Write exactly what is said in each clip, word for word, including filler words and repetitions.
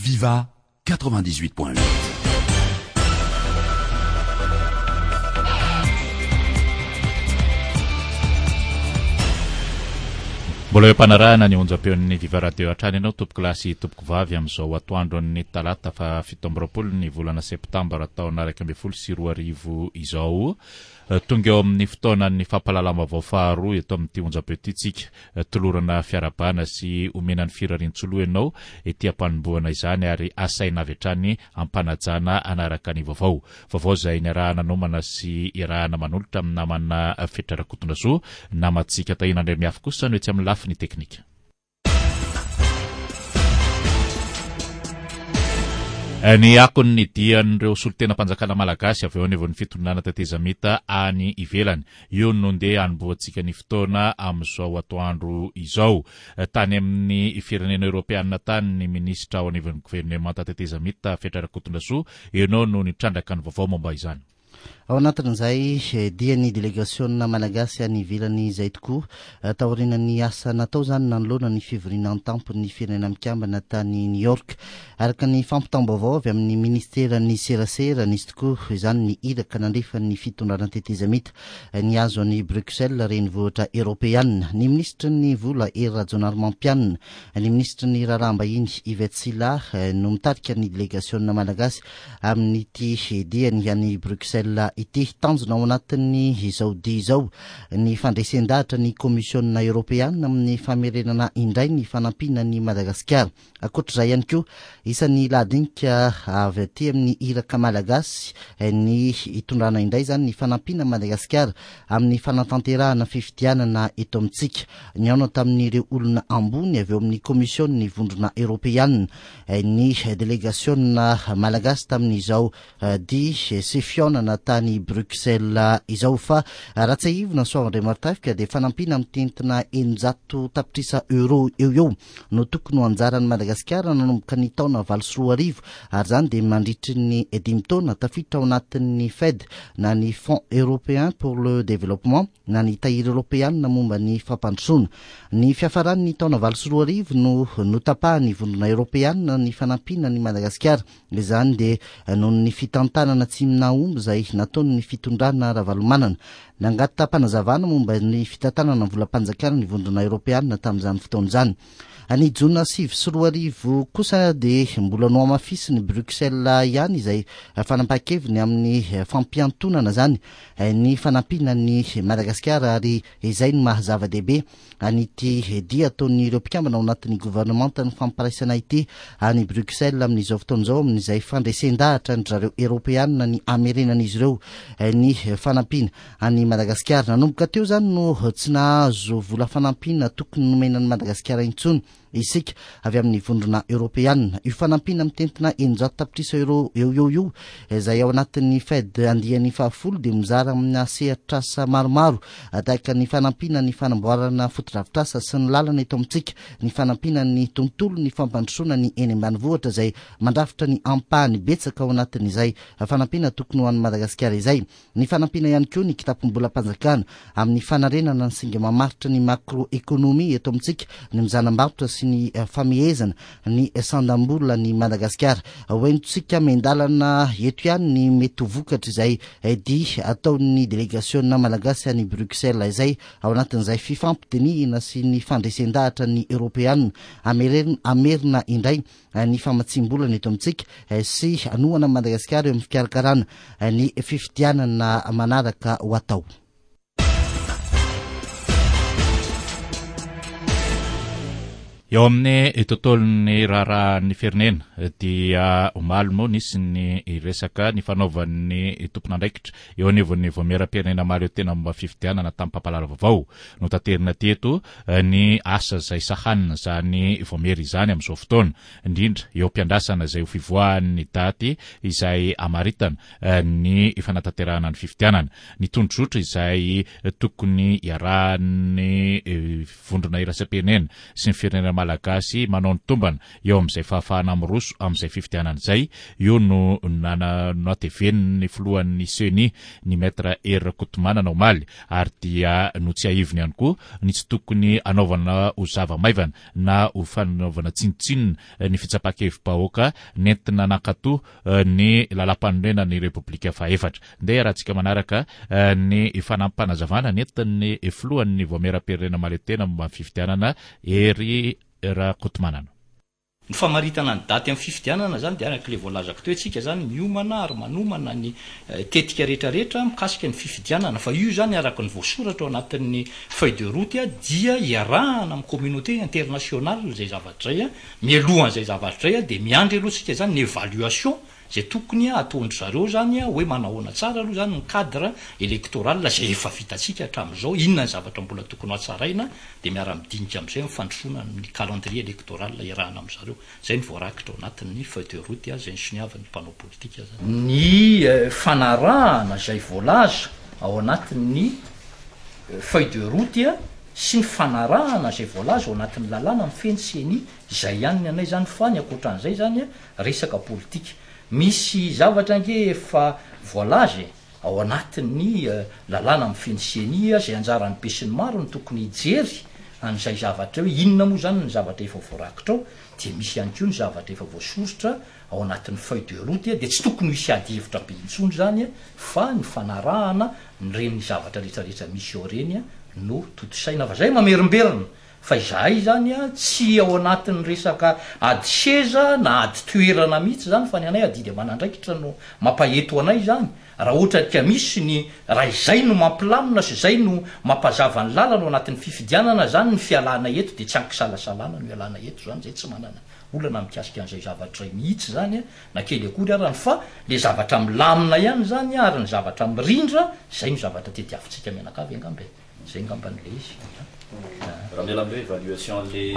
Viva quatre-vingt-dix-huit point huit. Mbola eo am-panarahana ny onjam-peon'ny Viva Radio hatrany ianao, tompoko lahy sy tompoko vavy, amin'izao atoandron'ny talata fa fito amby roapolo ny volana septambra taona iraika ambin'ny folo sy roa arivo izao. Tonga eo amin'ny fotoanan'ny fampahalalam-baovao faharoa eto amin'ity onjam-peo ity tsika. Tolorana fiarahabana sy omena ny firarian-tsoloha ianao ety am-panombohana izany ary asaina avy hatrany ampanajana hanaraka ny vaovao. Vaovao izay niarahana nomana sy iarahana manolotra amin'ny namana Fetra Rakotondrasoa, namantsika Tahina Andriamiafy kosa no etsy amin'ny lafiny teknika. Ny akon'ny dian'ireo solontenam-panjakana malagasy avy eo anivon'ny fitondrana tetezamita any ivelany. Io no ndeha hanombohantsika ny fotoana amin'izao atoandro izao. Tany amin'ny firenena eoropeanina tany ny minisitra ao anivon'ny governemanta tetezamita Fetra Rakotondrasoa, ianao no nitrandraka ny vaovao momba izany. Ao anatin'izay dia ny delegasiona malagasy any ivelany izay tokoa, taorian'ny asa natao izany nanoloana ny fivoriana an-tampon'ny firenena mikambana tany New York. Araka ny fampitam-baovao avy amin'ny ministeran'ny serasera, nisy tokoa izany ny iraka nandefa ny fitondrana tetezamita nihazo an'i Bruxelles, renivohitra eoropeanina. Ny minisitry ny vola Hery Rajaonarimampianina, ny minisitry ny raharaham-bahiny Yvette Sylla no mitarika ny delegasiona malagasy amin'ity diany any Bruxelles ity. Tanjona ao anatin'ny izao dia izao ny fandresen-dahatra ny komisiona eoropeanina amin'ny famerenana indray ny fanampiana ny Madagasikara. Ankoatr'izay ihany koa, isan'ny lahadinika avy aty amin'ny iraka malagasy ny hitondrana indray izany ny fanampiana Madagasikara amin'ny fanatanterahana fifidianana eto amintsika. Nihaona tamin'ireo olona ambony avy eo amin'ny komision'ny vondrona eoropeanina ny delegasiona malagasy tamin'izao dia sy fihaonana tany Bruxelles izao. Fa raha tsiahivina Soava Andriamartafika dia fanampiana mitentina eninjato tapitrisa euro eo eo no tokony ho anjaran'i Madagasikara nanomboka ny taona valo sy roa arivo, ary izany dia mandritry ny dimy taona tafiditra ao anatin'ny F E D na ny Fonds européen pour le développement na ny tahiry eoropeanina momba ny fampandrosoana. Ny fiafaran'ny taona valo sy roa arivo no notapahan'ny vondrona eoropeanina ny fanampiana ny Madagasikara. Izany dia noho ny fitantanana tsy nahomby izay nataon'ny fitondrana Ravalomanana. Nangataham-panazavana momba ny fitantanana ny volam-panjakana ny vondrona eoropeanina tamin'izany fotoana izany. Ny jona sivy sy roa arivo kosa dia mbola nohamafisin'ny Bruxelles ihany izay fanapahan-keviny amin'ny fampiantonana izany ny fanampiana ny Madagasikara, ary izay no maha zava-dehibe an'ity dia ataon'ireo mpikambana ao anatin'ny governemantan'ny fampiraisana ity any Bruxelles amin'izao fotoana izao, amin'izay fandresen-dahatra ny zareo eoropeanina ny hamerenan'izy ireo ny fanampiana any Madagasikara. Nanomboka teo izany no tsy nahazo vola fanampiana tokony nomena an'i Madagasikara intsony isika avy amin'ny vondrona eoropeanina. Io fanampiana mitentina eninjato tapitrisa euro eo eo io izay ao anatin'ny F E D andiany fahafolo dia mizara amina sehatr'asa maromaro tahaka ny fanampiana ny fanamboarana fotodrafitrasa sy ny lalana eto amintsika, ny fanampiana ny tontolo, ny fampandrosoana ny eny ambanivohitra izay mandrafitra ny ampahany betsaka ao anatin'izay fanampiana tokony ho an'i Madagasikara izay, ny fanampiana ihany koa ny kitapom-bolam-panjakana amin'ny fanarenana ny singa mamaritra ny macroéconomie eto amintsika, ny mizanam-barotra sy ny famehezana ny sandam-bola ny Madagasikara. Hoentintsika miandalana eto ihany ny mety ho vokatra izay dia ataon'ny delegasiona malagasy any Bruxelles izay ao anatin'izay fifampidinihina sy ny fandresen-dahatra ny eoropeanina amerina, amerina indray ny famatsiam-bolana eto amintsika sy hanohana Madagasikara eo amin'ny fikarakarana ny fifidianana manaraka ho atao. Eo amin'ny tontolon'ny raharahan'ny firenena dia omaly moa nisy ny resaka ny fanaovan'ny tompon'andraikitra eo anivon'ny vaomieram-pirenena mahaleo tena momba fifidianana tamin'ny mpampahalala vaovao. Notaterina teto ny asa izay sahanina izany vaomiera izany amin'izao fotoana, indrindra eo am-piandrasana izay ho fivoahan'ny daty izay amaritana ny fanatanterahana ny fifidianana. Ny tondrozotra izay tokony iarahan'ny vondrona iraisam-pirenena sy ny firenena malagasy manao ny tombana eo amin'izay fahafahana miroso amin'izay fifidianana izay. Io no natevenin'ny filohan'ny CENI, ny maître Hery Rakotomanana, omaly, ary dia notsiahiviny ihany koa ny tsy tokony anaovana ho zava-maivana na ho fanaovana tsinontsinona ny fitsapan-kevi-bahoaka nentina nankato ny lalam-panorenana ny Repoblika fahaefatra. Ndeha raha tsika manaraka ny fanampanazavana nentin'ny filohan'ny Vaomieram-pirenena mahaleo-tena momba ny fifidianana, Hery Rakotomanana. Ny famaritana ny daty amin'ny fifidianana zany dia araka ilay voalazako teo, tsika zany miomana ary manomana ny tetika rehetrarehetra mikasika ny fifidianana, fa io zany araka ny voasoratra ao anatin'ny feuille de route dia iarahana amin'ny communauté internationale zay zavatra zay. A mialohan'izay zavatra zay a dia miandry aloha tsika zany ny évaluation zay tokony ataondry zareo zany a hoe manahoana tsara aloha zany ny cadre électoral zay efa vitatsika hatramin'izao, inona ny zavatra mbola tokony hatsaraina, de miara-midinika am'izay mifandrosoana ny calendrier électoral iarahana am'zareo. Zay ny voarakitra ao anatin'ny feuille de route a zay ny soniavin'ny mpanao politika zany. Ny fanarahana zay voalaza ao anatin'ny feuille de route a sy ny fanarahana zay voalaza ao anatin'ny lalàna mifehy ny CENI zay ihany ny anay zany, fa ny ankoatran'izay zany a resaka politika. Misy zavatra ange efa voalaza e ao anatin'ny lalàna mifehy ny CENI a zay anjaran'ny be sy ny maro ny tokony hijery an'izay zavatra hoe inona moa zany ny zavatra efa voarakitra ao, de misy ihany koa ny zavatra efa voasoritra ao anatin'ny feuille de route, de tsy tokony hisy ady hevitra be intsony zany a fa ny fanarahana nyreny zavatra rehetrarehetra misy ao reny a no totosaina. Fa zay mamerimberina fa izahay zany a tsy ao anatin'ny resaka ady seza na ady toerana mihitsy zany, fa ny anay adidy aman'andraikitra no mampaheto anay zany. Raha ohatra ka misy ny raha izay no mampilamina sy zay no mampazava ny lalana ao anatin'ny fifidianana zany, ny fialana eto de tsy ankisalasalana no ialana eto zany. Zay tsy manana olana mikasika an'izay zavatra zay mihitsy zany a na kely akory arany, fa le zavatra milamina ihany zany ary ny zavatra mirindra zay no zavatra tediavintsika mianakavy angamba e, zay ngamba n'le izy. Raha miala am'le évaluation le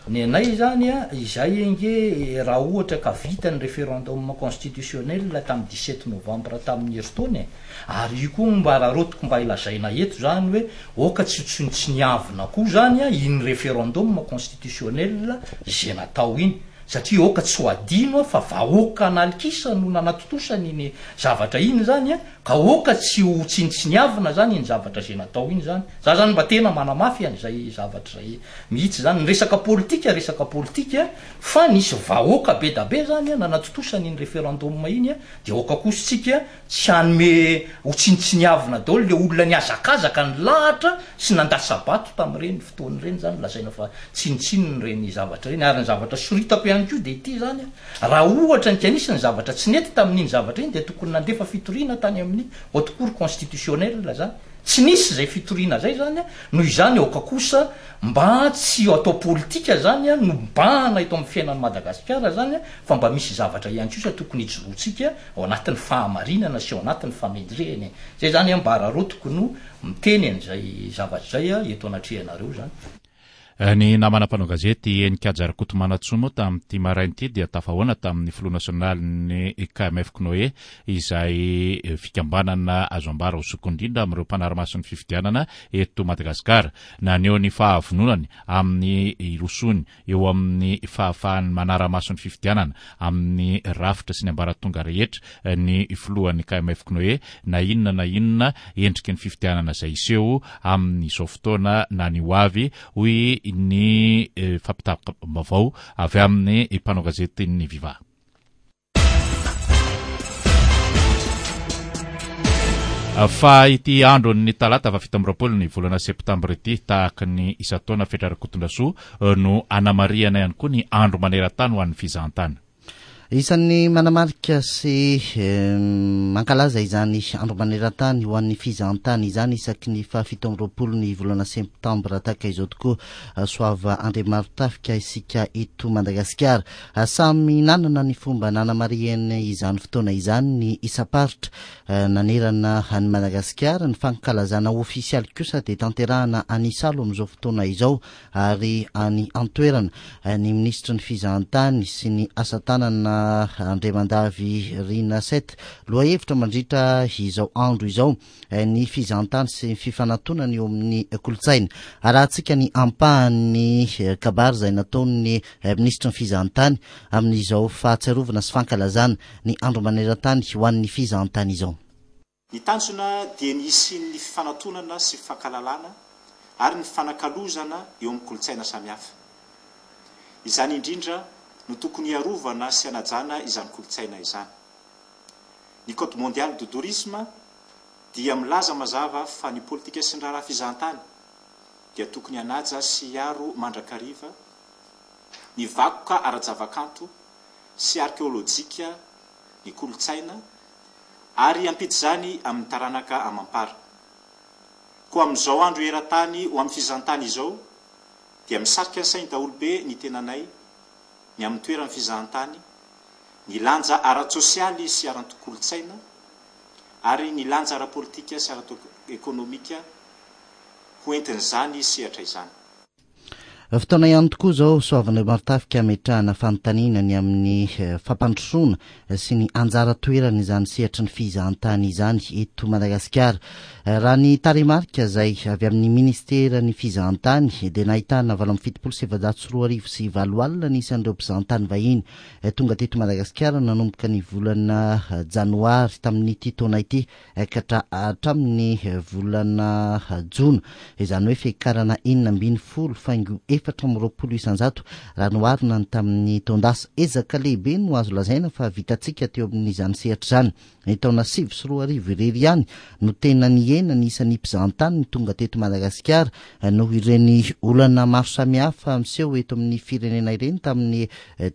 Ny anay zany a izay ange, raha ohatra ka vita ny référendum constitutionnel tamin'ny dix-sept novembre tamin'ny herintaona e, ary io koa mba raha rotiko mba ilazaina eto zany hoe oka tsy tsinontsiniavina koa zany a iny référendum constitutionnel zay natao iny, satria oka tsy ho adino a fa vahoaka analikisa no nanatontosany iny zavatra iny zany a ka oka tsy ho tsinontsiniavina zany iny zavatra zay natao iny zany. Za zany mba tena manamafy an'izay zavatra zay mihitsy zany. Ny resaka politika resaka politika, fa nisy vahoaka be da be zany a nanatontosany iny référendum iny a de oka kosa tsika tsy hanome ho tsinontsiniavina daholo le olona niazakazaka ny lahatra sy nandatsa-bato tam'ireny fotoana ireny zany, lazaina fa tsinotsinony reny zavatra reny. Ary ny zavatra soritako ihany koa de ity zany a raha ohatra ny kanisy ny zavatra tsy nety tamin'iny zavatra iny, de tokony nandefa fitoriana tany amin'ny haute cour constitutionnelle zany. Tsy nisy zay fitoriana zay zany a noho izany aoka kosa mba tsy atao politika zany a no mbahana eto amin'ny fiainan'ny Madagasikara zany a fa mba misy zavatra ihany kosa tokony hijoroantsika ao anatin'ny fahamarinana sy ao anatin'ny famendrehany zay zany a mba raha rotiko no miteny an'izay zavatra zay a eto anatrehanareo zany. Ny namana mpanao gazety Heninkaja Rakotomanantsoa moa tamin'ity maraina ity dia tafahoana tamin'ny filoha nasionaly ny K M F C N O E, izay fikambanana azo ambara ho zoky indrindra amin'ireo mpanara-maso ny fifidianana eto Madagasikara. Naneho ny fahavononany amin'ny irosony eo amin'ny fahafahany manara-maso ny fifidianana amin'ny rafitra sy ny ambaratonga rehetra ny filohan'ny K M F C N O E, na inona na inona endriky ny fifidianana izay iseho amin'izao fotoana na ny ho avy, hoy ny fampitam-baovao avy amin'ny mpanao gazety ny Viva. Fa ity andro ny talata fa fito amby roapolo ny volana septambra ity, tahaka ny isan-taona, Fetra Rakotondrasoa, no anamarihana ihany koa ny andro maneran-tany ho an'ny fizahantany. Isan'ny manamarika sy mankalaza izany andro maneran-tany ho an'ny fizahantany izany isaky ny fahafito amby roapolo ny volana septambra tahaka izao tokoa, Soava Andriamarotafika, isika eto Madagasikara. Samy nanana ny fomba nanamarihana izany fotoana izany ny isam-paritra nanerana any Madagasikara. Ny fankalazana ofisialy kosa dia tanterahana any Isalo amin'izao fotoana izao, ary any antoerana ny ministry ny fizahantany sy ny asa tanana. namana Andriamandavy Rina Seth. Lohahevitra mandritra izao andro izao ny fizahantany sy ny fifanatonana eo amin'ny kolontsaina. Arahantsika ny ampahan'ny kabary izay nataon'ny minisitry ny fizahantany amin'izao fahatsiarovana sy fankalazana ny andro maneran-tany ho an'ny fizahantany izao. Ny tanjona dia ny hisian'ny fifanatonana sy fankalalana ary ny fanakalozana eo amin'ny kolontsaina samihafa. Izany indrindra no tokony hiarovana sy hanajana izany kolontsaina izany. Ny Code mondial du tourisme dia milaza mazava fa ny politika sy ny raharaha fizahantany dia tokony hanaja sy hiaro mandrakariva ny vakoka ara-javakanto sy arkeolojika, ny kolontsaina, ary hampita izany amin'ny taranaka amam-para. Koa amin'izao andro eran-tany ho amin'ny fizahantany izao dia misarika ny sain'ny daholobe ny tenanay ny amin'ny toeran'ny fizahantany, ny lanja ara-tsosialy sy ara-kolontsaina ary ny lanja ara-politika sy ara-ekonomika ho entin'izany sehatra izany. Fotoana ihany tokoa izao Soavina Marotafika ametrahana fanontaniana ny amin'ny fampandrosoana sy ny anjara toerana izany sehatry ny fizahantany izany eto Madagasikara. Raha ny tarehimarika izay avy amin'ny ministeran'ny fizahantany dia nahitana valo amby fitopolo sy efajato sy roa arivo sy valo alina ny isan'ireo mpizahantany vahiny tonga teto Madagasikara nanomboka ny volana janoary tamin'ity taona ity ka hatramin'ny volana jona, izany hoe fiakarana enina ambin'ny folo faingo efatra amby roapolo isanjato raha noharina ny tamin'ny taon-dasa. Ezaka lehibe no azo lazaina fa vitantsika teo amin'izany sehatra izany. Ny taona sivy sy roa arivo irery ihany no tena nihena ny isan'ny mpizahantany tonga teto Madagasikara noho ireny olana maro samihafa miseho eto amin'ny firenena ireny tamin'ny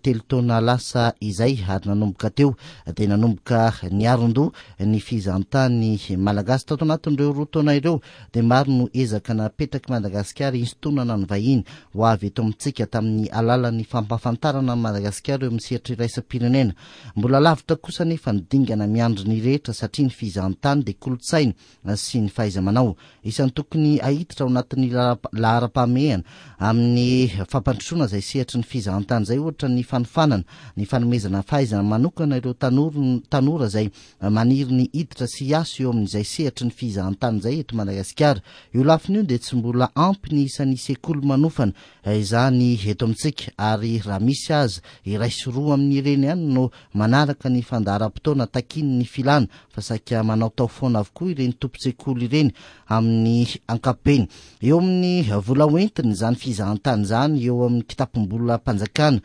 telo taona lasa izay, ary nanomboka teo dia nanomboka niaron-doha ny fizahantany malagasy. Tato anatin'ireo roa taona ireo dia maro no ezaka napetraky Madagasikara hisintonana ny vahiny ho avy eto amintsika tamin'ny alalan'ny fampahafantarana Madagasikara eo amin'ny sehatra iraisam-pirenena. Mbola lavitra kosa nefa ny dingana miandry ny rehetra satria ny fizahantany dia kolontsaina sy ny fahaiza-manao. Isan'ny tokony hahiditra ao anatin'ny laharam-pahamehana amin'ny fampandrosoana izay sehatry ny fizahantany izay, ohatra ny fanofanana, ny fanomezana fahaizana manokana ireo tanora izay maniry ny hiditra sy hiasa eo amin'izay sehatry ny fizahantany izay eto Madagasikara. Io lafiny io dia tsy mbola ampy ny isan'ny sekoly manofana izany eto amintsika, ary raha misy aza iray sy roa amin'ireny ihany no manaraka ny fandaharam-potoana takian'ny filana, fa saika manao tao foana avokoa ireny tompon-tsekoly ireny amin'ny ankapobeny. Eo amin'ny vola hoentiny izany fizahantany izany eo amin'ny kitapom-bolam-panjakana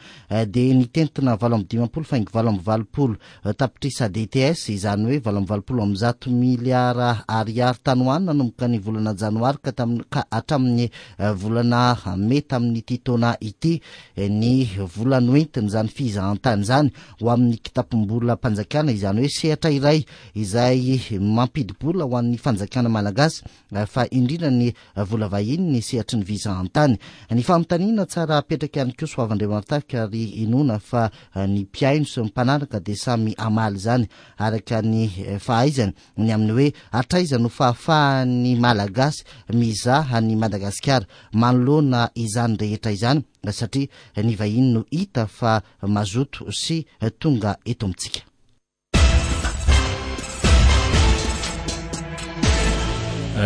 dia nitentina valo amby dimampolo faingo valo amby valopolo tapitrisa D T S, izany hoe valo amby valopolo amby zato miliara ariary tany ho any nanomboka ny volana janoary ka tamin'ny, ka hatramin'ny volana mey tamin'ity taona ity ny vola noentiny izany fizahantany izany ho amin'ny kitapom-bolam-panjakana, izany hoe sehatra iray izay mampidi-bola ho an'ny fanjakana malagasy, fa indrindra ny vola vahiny ny sehatry ny fizahantany. Ny fanontaniana tsara apetraka ihany koa Soavandriamarotafika, ary inoana fa ny mpihaino sy ny mpanaraka dia samy hamaly izany araka ny fahaizany ny amin'ny hoe hatraiza no fahafahan'ny malagasy mizaha ny Madagasikara manoloana izany rehetra izany, satria ny vahiny no hita fa mazoto sy tonga eto amintsika.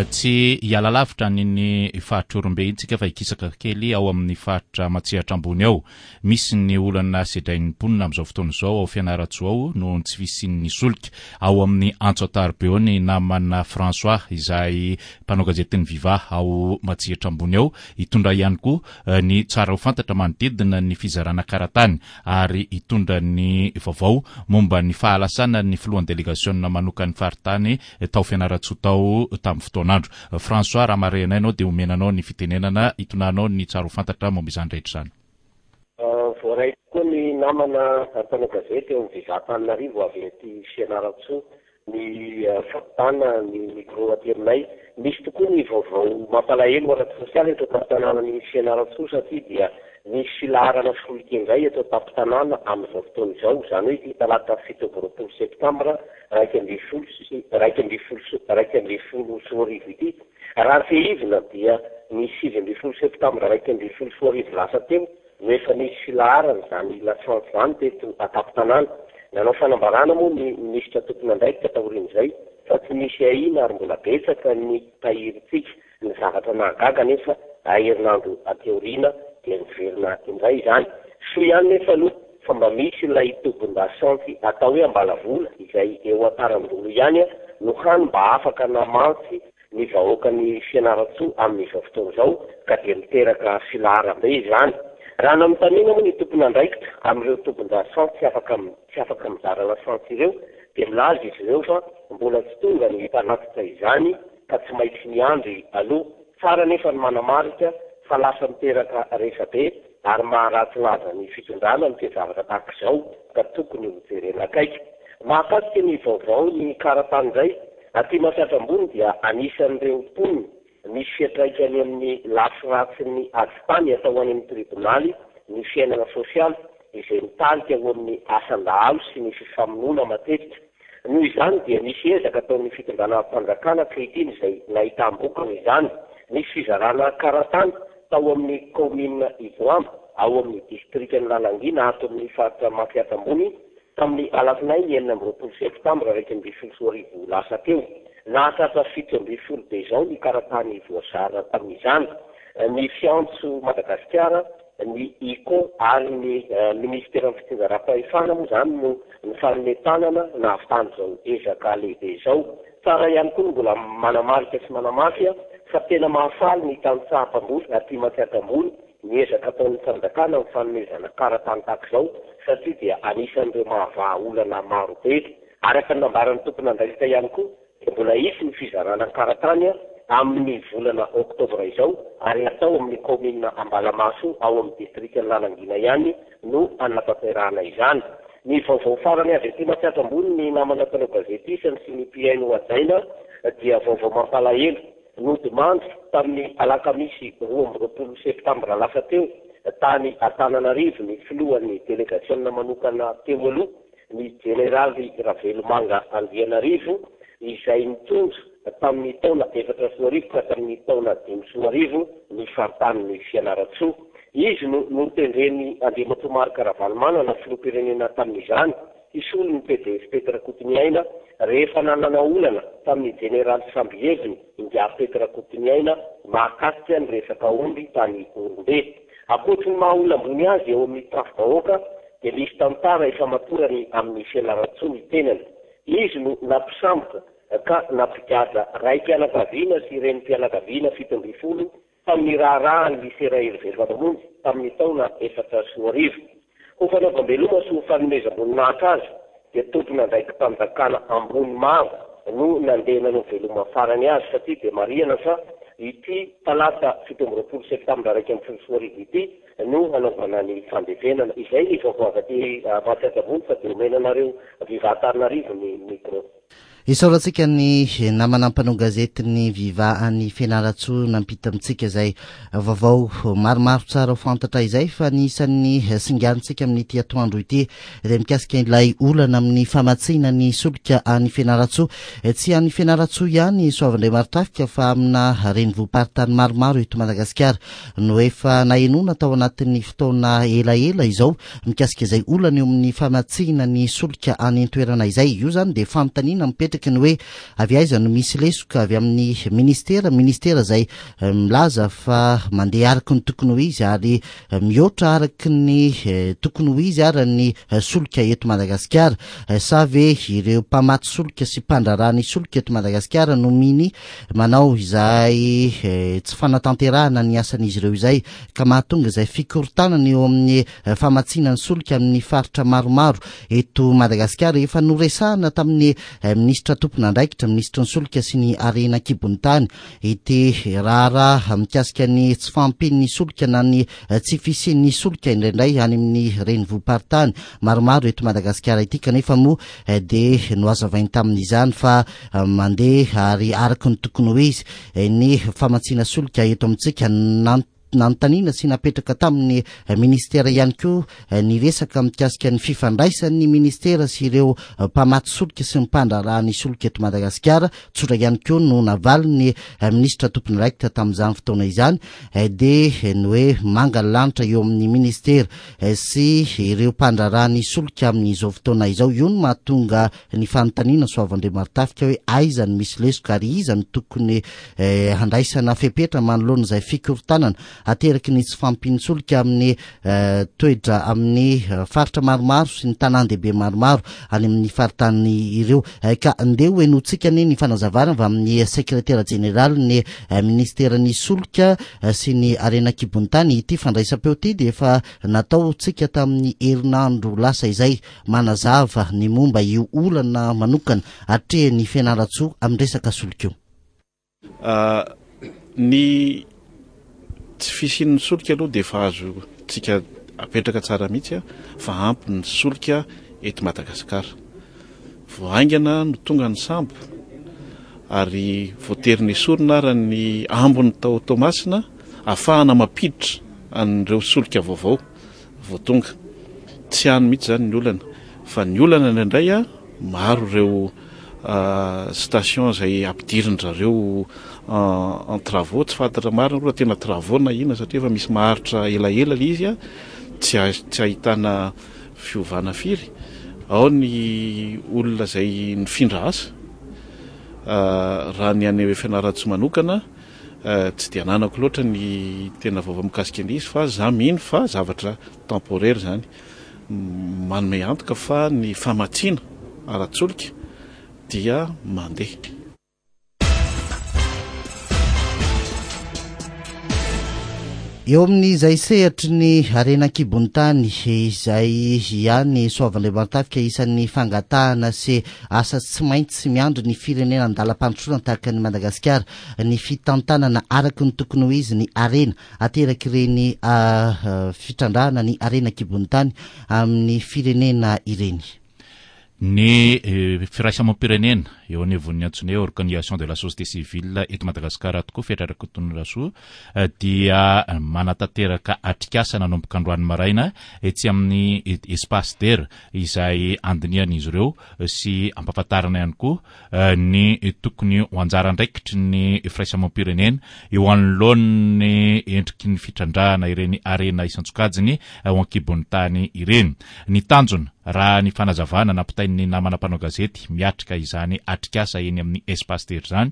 Tsy hiala lavitra ny ny faritra Ihorombe iny tsika fa hikisaka kely ao amin'ny faritra Matsiatra ambony ao. Misy ny olana sedrain'ny mponina amin'izao fotoana izao ao Fianarantsoa ao noho ny tsy fisian'ny solika. Ao amin'ny Antso Antarobe ao ny namana François izay mpanao gazetin'ny Viva ao Matsiatra ambony ao, hitondra ihany koa ny tsara ho fantatra manodidina ny fizarana karatany ary hitondra ny vaovao momba ny fahalasana ny filohan'ny delegasiona manokan'ny faritany tao Fianarantsoa tao tamin'ny fotoanandro. François, raha marihana ianao dia omenanao ny fitenenana hitonanao ny tsara ho fantatra momba izany rehetra izany. Voaray tokoa ny namana mpanao gazety eo amin'ny Viva Antananarivo avy aty Fianarantsoa ny fampitana ny micro aty aminay. Misy tokoa ny vaovao mampalahelo ara-tsosialy eto an-tampon-tanànan'ny Fianarantsoa satria dia misy filaharana solika indray eto an-tampon-tanàna amin'izao fotoana izao, izany hoe ity talata fito amby roapolo septambra iraika ambin'ny folo sy iraika ambin'ny folo sy iraika ambin'ny folo sy roa arivo ity. Raha fehivina dia ny sivy ambin'ny folo septambra iraika ambin'ny folo sy roa arivo lasa teo no efa nisy filaharana izany lasantsy izany teto an-tampon-tanàna. Nanao fanambarana moa ny minisitra tompon'andraikitra taorian'izay fa tsy misy ahiana ary mbola betsaka ny tahirintsika. Ny zavatra nahagaga anefa, herinandro aty aoriana dia niverina indray izany. Soa ihany nefa aloha fa mba misy ilay tobin-dasantsy atao hoe Ambalavola izay eo Antarandolo ihany no hany mba afaka namantsy ny vahoakan'i Fianarantsoa amin'izao fotoana izao ka dia miteraka filaharam-be izany. Raha nanontaniana moa ny tompon'andraikitra amin'ireo tobin-dasantsy tsy afaka tsy afaka mizara lasantsy ireo dia milaza izy ireo fa mbola tsy tonga ny mpanatitra izany ka tsy maintsy miandry aloha. Tsara nefa ny manamarika fa lasa miteraka resabe ary maharatsy laza ny fitondrana ny toe-javatra tahaka izao ka tokony ho jerena akaiky. Mahakasika ny vaovao ny karatany indray, aty Matsiatra Ambony dia anisan'ireo mponina misy fiantraikany amin'ny lafy ratsin'ny ady tany atao any amin'ny tribonaly ny fiainana sosialy izay mitarika ho amin'ny asan-dahalo sy ny fifamonoana matetika. Noho izany dia misy ezaka ataon'ny fitondrana-mpanjakana ankehitriny izay nahitam-bokany izany. Nisy fizarana karatany tao amin'ny kaominina Ivoamba ao amin'ny distrikan'i Lalangina ato amin'ny faritra Matsiatra Ambony tamin'ny alatsinainy enina amby roapolo septambra iraika ambin'ny folo sy roa arivo lasa teo. Nahatratra fito ambin'ny folo be izao ny karatany voazara tamin'izany. Ny Fiantso Madagasikara, ny I C O ary ny minisiteran'ny fitsinjaram-pahefana moa izany no nifanome tanana nahavitana izao ezaka lehibe izao. Tsara ihany koa ny mbola manamarika sy manamafy fa tena mahafaly ny tantsaha mpamboly aty Matsiatra Ambony ny ezaka ataon'ny fanjakana amin'ny fanomezana karatany tahaka izao satria dia anisan'ireo mahavaha olana maro be. Araka ny nambaran'ny tompon'andraikitra ihany koa dia mbola hisy ny fizarana karatany amin'ny volana oktobra izao ary atao amin'ny kaominina Ambalamaso ao amin'ny distrikan'i Lalangina ihany no hanatanterahana izany. Ny vaovao farany avy aty Matsiatra Ambony ny namana mpanao gazety isany sy ny mpihaino hajaina dia vaovao mampalahelo. Nodimandry tamin'ny alakamisy roa amby roapolo septambra lasa teo tany Antananarivo ny filohan'ny delegasiona manokana teo aloha, ny jeneraly Ravelomanga Andrianarivo, izay nitondra tamin'ny taona efatra sy roa arivo ka hatramin'ny taona dimy sy roa arivo ny faritanin'ny Fianarantsoa. Izy no notendren'i Andriamatoa Marc Ravalomanana filoham-pirenena tamin'izany hisolo ny P D S Pety Rakotoniaina rehefa nanana olana tamin'ny jeneraly Sambiheviny Ingahy Pety Rakotoniaina mahakasika ny resaka omby tany Orombe. Ankoatry ny maha olona ambony azy eo amin'ny tafi-bahoaka dia misy tantara ifamatorany amin'ny Fianarantsoa ny tenany. Izy no nampisambotra ka nampigadra raim-pianakaviana sy renim-pianakaviana fito ambin'ny folo tamin'ny raharahan'ny lycée Raherivelo Mamonjy tamin'ny taona efatra sy roa arivo. Ho fanaovam-beloma sy ho fanomezam-boninahitra azy dia tompon'andraiki-panjakana ambony maro no nandeha nanao veloma farany azy satria dia marihana fa ity talata fito amby roapolo septambra iraika ambin'ny folo sy roa arivo ity no hanaovana ny fandevenana. Izay ny vaovao avy aty Matsiatra Ambony fa dia omena anareo Viva Antananarivo ny micro. Isaorantsika ny namana mpanao gazety ny Viva any Fianarantsoa nampita amintsika izay vaovao maromaro tsara ho fantatra izay, fa ny isan'ny singantsika amin'ity atoandro ity dia mikasika ilay olana amin'ny famatsiana ny solika any Fianarantsoa. Tsy any Fianarantsoa ihany, Soavindray Marotafika, fa amina renivohi-paritany maromaro eto Madagasikara no efa nahenoana tao anatin'ny fotoana elaela izao mikasika izay olana eo amin'ny famatsiana ny solika any an-toerana izay. Io zany dia fanontaniana mipetraky ny hoe avy aiza no misy lesoka? Avy amin'ny ministera ministera izay milaza fa mandeha araky ny tokony ho izy ary mihoatra araky ny tokony ho izy ary ny solika eto Madagasikara, sa ve ireo mpamatsy solika sy mpandraharaha ny solika eto Madagasikara no mini manao izay tsy fanatanterahana ny asan'izy ireo izay ka mahatonga izay fikorontanana eo amin'ny famatsiana ny solika amin'ny faritra maromaro eto Madagasikara? Efa noresahana tamin'ny minisitra tompon'andraikitra, minisitry ny solika sy ny harena an-kibon'ny tany, ity raharaha mikasika ny tsy fahampian'ny solika na ny tsy fisian'ny solika indraindray any amin'ny renivohi-paritany maromaro eto Madagasikara ity, kanefa moa dia nohazavainy tamin'izany fa mandeha ary araky ny tokony ho izy ny famatsiana solika eto amintsika. Nanontaniana sy napetraka tamin'ny ministera ihany koa ny resaka mikasika ny fifandraisan'ny ministera sy ireo mpamatsy solika sy ny mpandraharaha ny solika eto Madagasikara. Tsotra ihany koa no navalin'ny ministra tompon'andraikitra tamin'izany fotoana izany, dia ny hoe manga lanitra eo amin'ny ministera sy ireo mpandraharaha ny solika amin'izao fotoana izao. Io no mahatonga ny fanontaniana, Soavandriamarotafika, hoe aiza no misy lesoka ary iza no tokony handraisana fepetra manoloana izay fikorontanana ateraky ny tsy fahampian'ny solika amin'ny toetra amin'ny faritra maromaro sy ny tanàn-dehibe maromaro any amin'ny faritany ireo. Ka ndeha ho henointsika ny ny fanazavana avy amin'ny sekretera jeneraly ny ministeran'ny solika sy ny harena an-kibon'ny tany. Ity fandraisam-peo ity dia efa nataontsika tamin'ny herinandro lasa izay, manazava ny momba io olana manokana atrehan'ny Fianarantsoa amin'ny resaka solika io. Ny tsy fisian'ny solika aloha dia efa azontsika apetraka tsara mihitsy a fa ampy ny solika eto Madagasikara. Vao haingana no tonga ny sambo ary voatery nesorina ara ny ambiny tao Toamasina ahafahana mampiditra an'ireo solika vaovao vao tonga. Tsy any mihitsy zany ny olana, fa ny olana indraindray a maro ireo station izay ampidirin-drareo en travaux, tsy fantatra marina aloha tena travaux na inona satria efa misy maharitra elaela ilay izy a tsy tsy ahitana fiovana firy. Ao ny olona izay nifindra asa. Raha ny any Fianarantsoa manokana tsy dia ananako loatra ny tena vaovao mikasika an'izy, fa za mino fa zavatra temporaire zany, manome antoka fa ny famatsiana ara-tsolika dia mandeha. Eo amin'izay sehatry ny harena an-kibon'ny tany izay ihany, Soavandriamarotafika, isan'ny fangatahana sy asa tsy maintsy miandry ny firenena an-dalam-pandrosoana tahaka ny Madagasikara ny fitantanana araka ny tokony ho izy ny harena ateraky ireny fitrandrahana ny harena an-kibon'ny tany amin'ny firenena ireny. Ny firaisam-pirenena eo anivon'ny antsoina hoe Organisation de la société civile eto Madagasikara tokoa, Fetra Rakotonirasoa, dia manatanteraka atrikasa nanomboka androany maraina etsy amin'ny Espace D E R izay andinihan'izy ireo sy ampahafantarana ihany koa ny tokony ho anjara andraikitry ny firaisam-pirenena eo anoloan'ny endriky ny fitrandrahana ireny harena isan-tsokajiny ao an-kibon'ny tany ireny. Ny tanjona, raha ny fanazavana nampitain'ny namana mpanao gazety miatrika izany atrikasa eny amin'ny Espace D E R izany,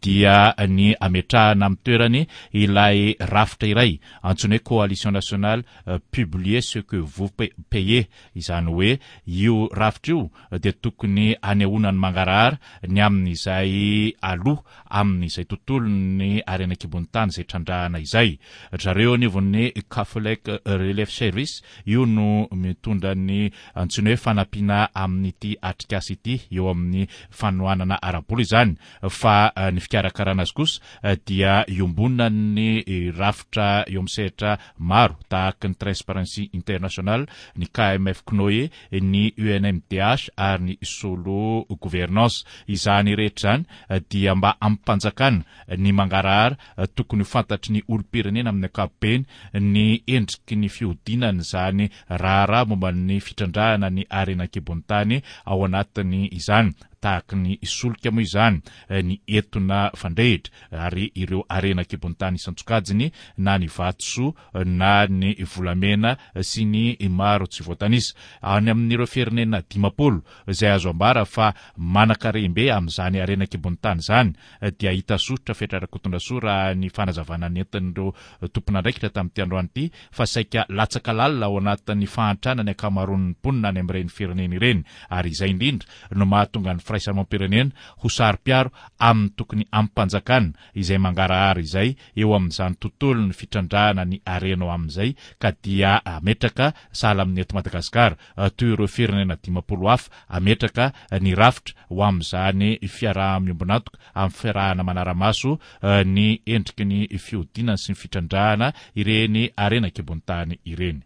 dia ny ametrahana amin'ny toerany ilay rafitra iray antsoina hoe Coalition nationale publiez ce que vous payez. Izany hoe io rafitra io dia tokony anehoana ny mangarahara ny amin'izay aloha amin'izay tontolon'ny harena an-kibon'ny tany izay trandrahana izay. Zareo anivon'ny Catholic Relief Service io no mitondra ny antsoina hoe fanampiana amin'ity atrikasa ity eo amin'ny fanohanana ara-bola izany, fa ny fikarakarana azy kosa dia iombonan'ny rafitra eo amin'ny sehatra maro tahaka ny Transparency International, ny K M F C N O E, ny U N M D H ary ny Solo Gouvernance. Izany rehetra izany dia mba ampanjakana ny mangarahara tokony ho fantatry ny olom-pirenena amin'ny ankapobeny ny endriky ny fihodinana izany raharaha momba ny fitrandrahana ny harena an-kibon'ny tany ao anatiny izany, tahaka ny solika moa izany, ny etona fandrehitra ary ireo harena an-kibon'ny tany isan-tsokajiny, na ny vatosoa na ny volamena sy ny maro tsy voatanisa. Any amin'ireo firenena dimampolo izay azo ambara fa manan-karem-be amin'izany harena an-kibon'ny tany izany dia hita soritra, Fetra Rakotondrasoa, raha ny fanazavana nentin'ireo tompon'andraikitra tamin'ity androany ity, fa saika latsaka lalina ao anatin'ny fahantrana ny ankamaroan'ny mponina any amin'ireny firenena ireny, ary izay indrindra no mahatonga ny firaisam-pirenena ho saro-piaro amin'ny tokony ampanjakana izay mangarahara izay eo amin'izany tontolon'ny fitrandrahana ny harena ao amin'izay, ka dia ametraka sahala amin'ny eto Madagasikara toy ireo firenena dimampolo hafa ametraka ny rafitra ho amin'izany fiaraha-miombon'antoka amin'ny fiarahana manara-maso ny endriky ny fihodinana sy ny fitrandrahana ireny harena an-kibon'ny tany ireny.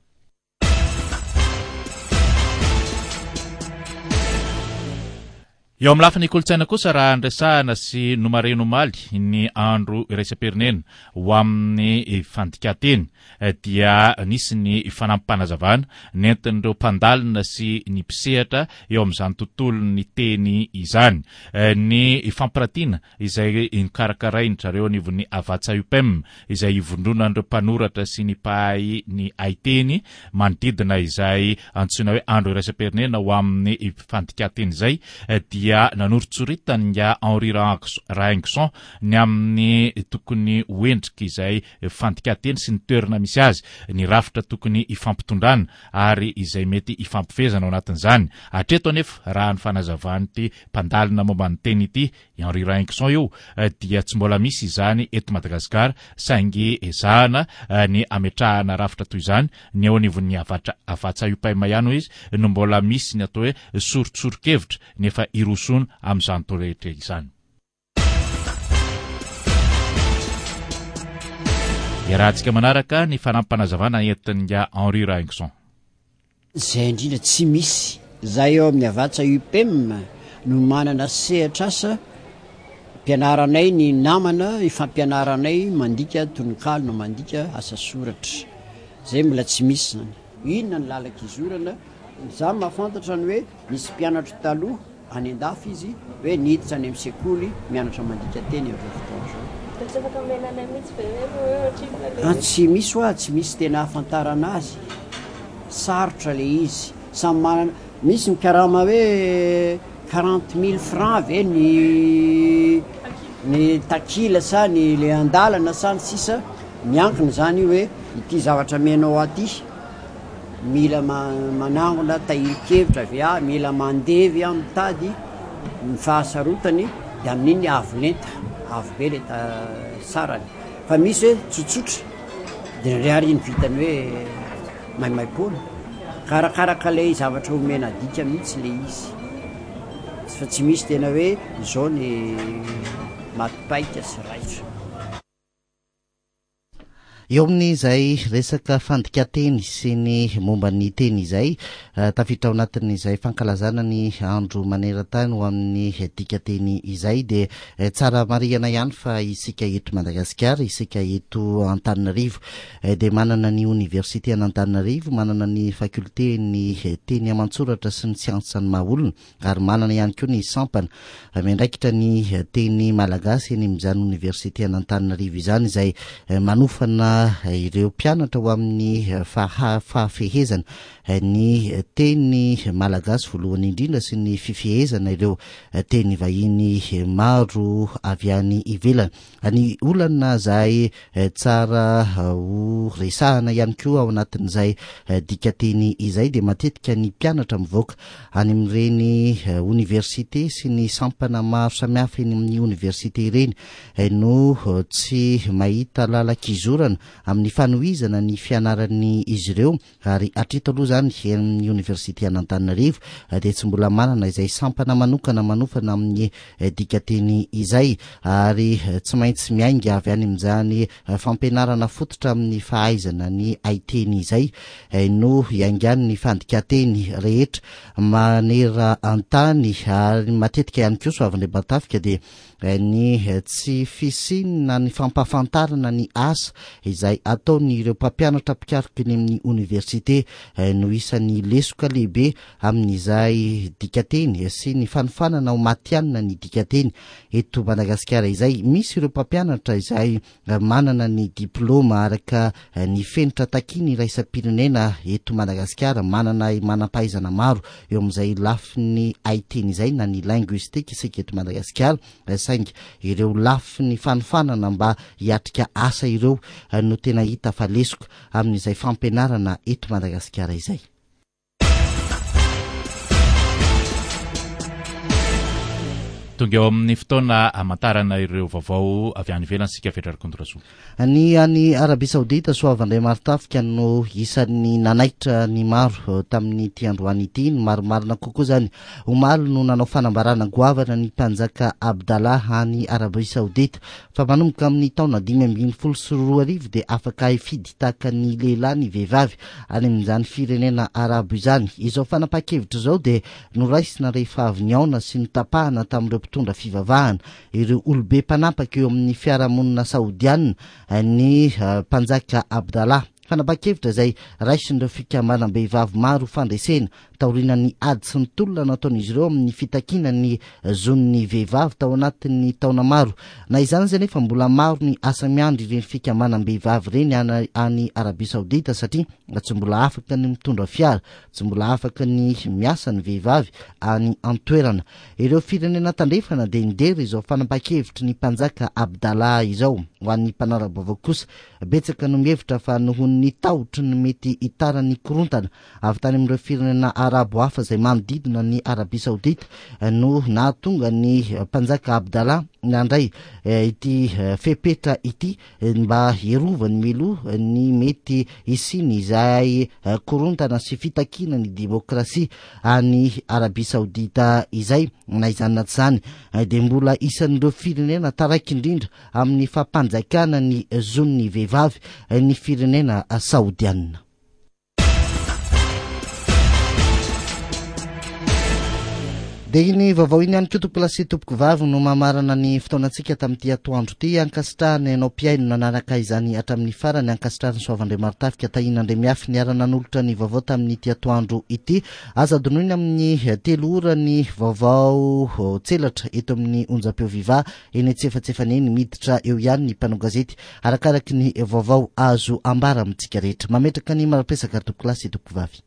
Eo amin'ny lafiny kolontsaina kosa, raha nresahana sy nomarihina omaly ny andro iraisam-pirenena ho amin'ny fandikan-teny, dia nisy ny fanampim-panazavana nentin'ireo mpandalina sy ny mpisehatra eo amin'izany tontolon'ny teny izany. Ny fampiratiana izay nokarakarain-dry zareo anivon'ny Havatsa U P E M, izay ivondronan'ireo mpanoratra sy ny mpahay ny haiteny, manodidina izay antsoina hoe andro iraisam-pirenena ho amin'ny fandikan-teny izay, dia nanoritsoritany nga Henri Rahaingoson ny amin'ny tokony ho endrika izay fandikan-teny sy ny toerana misy azy, ny rafitra tokony hifampitondrana ary izay mety hifampifehezana ao anatin'izany. Hatreto anefa, raha ny fanazavanyity mpandalina momba ny teny ity, Henri Rahaingoson io, dia tsy mbola misy izany eto Madagasikara, saingy ezahana ny ametrahana rafitra toy izany. Ny eo anivon'ny avatra Havatsa U P E M ihany izy no mbola misy ny atao hoe soritsori-kevitra, nefa irosona amin'izany torehetra izany. Iarahantsika manaraka ny fanampim-panazavana entin'ingahy Henri Rahaingoson. Zay indrindra, tsy misy zay eo amin'ny Havatsa U P E M no manana sehatra asa mpianaranay ny namana ifampianaranay mandika tononkalo na mandika asa soratra. Zay mbola tsy misy zany. Inona ny lalaka izorana? Za mahafantatra ny hoe nisy mpianatro taloha any andafy izy hoe niditra any amin'ny sekoly mianatra mandika teny am'izao fotoana zao. Tsy afaka omenanay mihitsy ve hoe ohatrinona le Tsy misy hoa, tsy misy tena ahafantarana azy, sarotra le izy. Samy manana, misy ny karama hoe quarante mille francs ve ny ny takila sa ny le andalana sa ny sisa. Miankina zany io hoe ity zavatra menao aty mila manangona tahirin-kevitra avy a mila mandevy a mitady ny fahasarotany, de amin'iny avo lenta, avo be le sarany. Fa misy hoe tsotsotra de ndre ary iny vitany hoe maimaim-poana, karakaraka lay zavatra omena adika mihitsy le izy, fa tsy misy tena hoe zao ny matipaika sy raitra. Eo amin'izay resaka fandikateny sy ny momba ny teny izay, eh, tafiditra ao anatin'izay fankalazana ny andro maneran-tany ho amin'ny dikateny izay, de eh, tsara marihana ihany fa isika eto Madagasikara, isika eto Antananarivo, eh, de manana ny oniversite an'Antananarivo, manana ny faculté ny teny aman-tsoratra sy ny siansa ny maha olona, ary manana ihany koa ny sampana miandraikitra ny teny malagasy eny amin'izany oniversite an'Antananarivo izany, izay manofana ireo mpianatra ho amin'ny faha fahafehezana ny teny malagasy voalohany indrindra sy ny fifehezana ireo teny vahiny maro avy any ivelany. Ny olana zay tsara ho resahana ihany koa ao anatin'izay dikateny izay, de matetika ny mpianatra mivoaka any amin'ireny oniversite sy ny sampana maro samihafa eny amin'ny oniversite ireny no tsy mahita lala-kizorana amin'ny fanohizana ny fianarany izy ireo. Ary hatreto aloha zany, amin'ny oniversite an'Antananarivo de tsy mbola manana izay sampana manokana manofana amin'ny dikateny izay, ary tsy maintsy miainga avy any amin'izany fampianarana fototra amin'ny fahaizana ny haiteny izay no iaingany ny fandikateny rehetra maneran-tany. Ary matetika ihany koa, Soavindray, de ny tsy fisiana ny fampahafantarana ny asa izay ataony ireo mpampianatra mpikaroka eny amin'ny oniversite no isan'ny lesoka lehibe amin'izay dikateny sy ny fanofanana ho matianina ny dikateny eto Madagasikara izay. Misy ireo mpampianatra izay manana ny diplôma araka ny fenitra takiny iraisam-pirenena eto Madagasikara, manana manam-pahaizana maro eo amin'izay lafiny haiteny izay na ny linguistique isika eto Madagasikara, saingy ireo lafiny fanofanana mba hiatrika asa ireo no tena hita fa lesoka amin'izay fampianarana eto Madagasikara izay. Tonga eo amin'ny fotoana hamantarana ireo vaovao avy any ivelany isika, Fetra Rakotorasoa. Ny any Arabia Saodita, Soavandray Marotafika no isan'ny nanaitra ny maro tamin'ity androany ity. Ny marimarina kokoa zany, omaly no nanao fanambarana goavana ny mpanjaka Abdallah any Arabia Saodita fa manomboka amin'ny taona dimy ambin'ny folo sy roa arivo dia afaka hifidy tahaka ny lehilahy ny vehivavy any amin'izany firenena arabo izany. Izao fanapa-kevitra izao dia noraisina rehefa avy nihaona sy nitapahana tamin'ireo mpitondra fivavahana, ireo olobe mpanapaka eo amin'ny fiarahamonina saodianina, ny mpanjaka Abdallah. Fanapa-kevitra izay raisin'ireo fikambanam-behivavy maro fandresena taorian'ny ady sy ny tolona nataon'izy ireo amin'ny fitakiana ny zon'ny vehivavy tao anatin'ny taona maro. Na izany zay nefa, mbola maro ny asa miandry ireny fikambanam-behivavy ireny any any Arabia Saodita, satria tsy mbola afaka ny mitondra fiara, tsy mbola afaka ny miasa ny vehivavy any antoerana. Ireo firenena tandrefana dia nidera izao fanapa-kevitry ny mpanjaka Abdallah izao. Ho an'ny mpanara-baovao kosa, betsaka no mihevitra fa noho ny tahotry ny mety hitaran'ny korontana avy tany amin'ireo firenena arabo hafa izay manodidina ny Arabia Saodita no nahatonga ny mpanjaka Abdallah nandray ity fepetra ity mba hiarovany mialoha ny mety hisiany izay korontana sy fitakiana ny demokrasia any Arabia Saodita izay. Na izany na tsy izany dia mbola isan'ireo firenena taraiky indrindra amin'ny fampanjakana ny zon'ny vehivavy ny firenena saodianina. Dia iny vaovao iny ihany koa, tompokolahy sy tompokovavy, no mamarana ny fotoanantsika tamin'ity atoandro ity. Ankasitrahana ianao mpihaino nanaraka izany hatramin'ny farany. Ankasitrahana Soavandray Marotafika, Tahiana Andriamiafy niara-nanolotra ny vaovao tamin'ity atoandro ity. Aza adinoina, amin'ny telo ora ny vaovao tselatra eto amin'ny onjam-peo Viva eny antsefatsefany eny. Miditra eo ihany ny mpanao gazety arakaraky ny vaovao azo ambara amintsika rehetra. Mametraka ny marapresaka, tompokolahy sy tompokovavy.